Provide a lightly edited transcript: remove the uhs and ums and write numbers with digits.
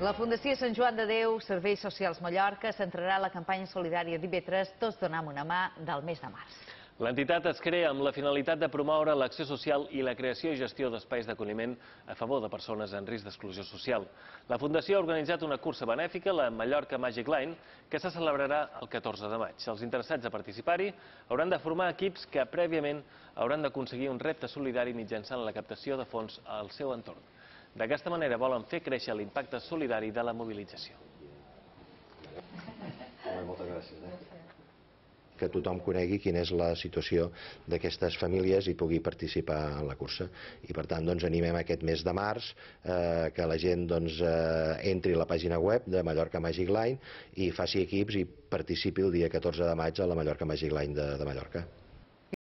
La Fundació Sant Joan de Déu, Serveis Socials Mallorca, centrarà la campanya solidària d'IV3 Tots donem una mà del mes de març. L'entitat es crea amb la finalitat de promoure l'acció social i la creació i gestió d'espais d'acolliment a favor de persones en risc d'exclusió social. La Fundació ha organitzat una cursa benèfica, la Mallorca Magic Line, que se celebrarà el 14 de maig. Els interessats a participar-hi hauran de formar equips que prèviament hauran d'aconseguir un repte solidari mitjançant la captació de fons al seu entorn. D'aquesta manera volen fer créixer l'impacte solidari de la mobilització. Moltes gràcies. Que tothom conegui quina és la situació d'aquestes famílies i pugui participar en la cursa. I per tant animem aquest mes de març que la gent entri a la pàgina web de Mallorca Magic Line i faci equips i participi el dia 14 de maig a la Mallorca Magic Line de Mallorca.